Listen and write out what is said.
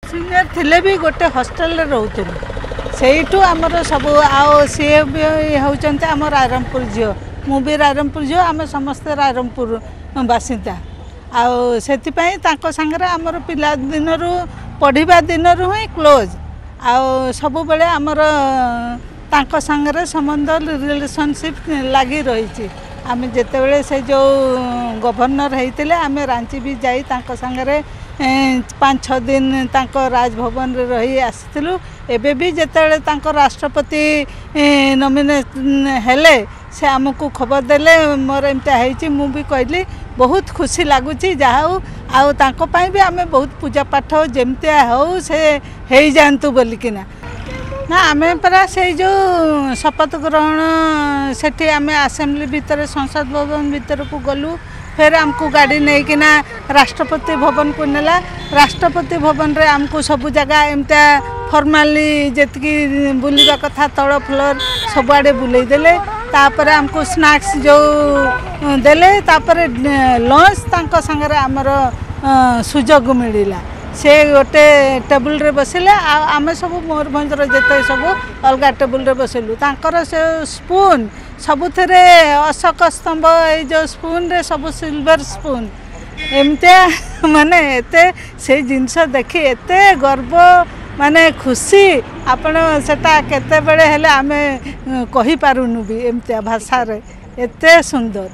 Senior ଥିଲେ ବି ଗୋଟେ ହଷ୍ଟେଲରେ ରହୁଥିଲୁ, ସେଇଠୁ ଆମର ସବୁ। ଆଉ ସିଏ ବି ହେଉଛନ୍ତି ଆମ ରାଇରଙ୍ଗପୁର ଝିଅ, ମୁଁ ବି ରାଇରଙ୍ଗପୁର ଝିଅ, ଆମେ ସମସ୍ତେ ରାଇରଙ୍ଗପୁର ବାସିନ୍ଦା। ଆଉ ସେଥିପାଇଁ ତାଙ୍କ ସାଙ୍ଗରେ ଆମର ପିଲା ଦିନରୁ, ପଢ଼ିବା ଦିନରୁ ହିଁ କ୍ଲୋଜ୍। ଆଉ ସବୁବେଳେ ଆମର ତାଙ୍କ ସାଙ୍ଗରେ ସମ୍ବନ୍ଧ, ରିଲେସନସିପ୍ ଲାଗି ରହିଛି। ଆମେ ଯେତେବେଳେ ସେ ଯେଉଁ ଗଭର୍ଣ୍ଣର ହେଇଥିଲେ, ଆମେ ରାଞ୍ଚି ବି ଯାଇ ତାଙ୍କ ସାଙ୍ଗରେ 5 6 ଦିନ ତାଙ୍କ ରାଜଭବନରେ ରହି ଆସିଥିଲୁ। ଏବେ ବି ଯେତେବେଳେ ତାଙ୍କ ରାଷ୍ଟ୍ରପତି ନମିନେଟ୍ ହେଲେ, ସେ ଆମକୁ ଖବର ଦେଲେ ମୋର ଏମିତିଆ ହେଇଛି। ମୁଁ ବି କହିଲି ବହୁତ ଖୁସି ଲାଗୁଛି, ଯାହା ହଉ। ଆଉ ତାଙ୍କ ପାଇଁ ବି ଆମେ ବହୁତ ପୂଜା ପାଠ, ଯେମିତିଆ ହଉ ସେ ହେଇଯାଆନ୍ତୁ ବୋଲିକିନା। ନା, ଆମେ ପରା ସେଇ ଯେଉଁ ଶପଥ ଗ୍ରହଣ, ସେଠି ଆମେ ଆସେମ୍ବଲି ଭିତରେ, ସଂସଦ ଭବନ ଭିତରକୁ ଗଲୁ। ଫେର ଆମକୁ ଗାଡ଼ି ନେଇକିନା ରାଷ୍ଟ୍ରପତି ଭବନକୁ ନେଲା। ରାଷ୍ଟ୍ରପତି ଭବନରେ ଆମକୁ ସବୁ ଜାଗା ଏମିତିଆ ଫର୍ମାଲି ଯେତିକି ବୁଲିବା କଥା, ତଳ ଫ୍ଲୋର୍ ସବୁଆଡ଼େ ବୁଲେଇ ଦେଲେ। ତାପରେ ଆମକୁ ସ୍ନାକ୍ସ ଯେଉଁ ଦେଲେ, ତାପରେ ଲଞ୍ଚ ତାଙ୍କ ସାଙ୍ଗରେ ଆମର ସୁଯୋଗ ମିଳିଲା। ସେ ଗୋଟେ ଟେବୁଲରେ ବସିଲେ ଆଉ ଆମେ ସବୁ ମୟୂରଭଞ୍ଜର ଯେତେ ସବୁ ଅଲଗା ଟେବୁଲରେ ବସିଲୁ। ତାଙ୍କର ସେ ସ୍ପୁନ୍ ସବୁଥିରେ ଅଶୋକ ସ୍ତମ୍ଭ, ଏଇ ଯେଉଁ ସ୍ପୁନ୍ରେ ସବୁ ସିଲଭର ସ୍ପୁନ୍ ଏମିତିଆ। ମାନେ ଏତେ ସେଇ ଜିନିଷ ଦେଖି ଏତେ ଗର୍ବ, ମାନେ ଖୁସି, ଆପଣ ସେଟା କେତେବେଳେ ହେଲେ ଆମେ କହିପାରୁନୁ ବି ଏମିତିଆ ଭାଷାରେ, ଏତେ ସୁନ୍ଦର।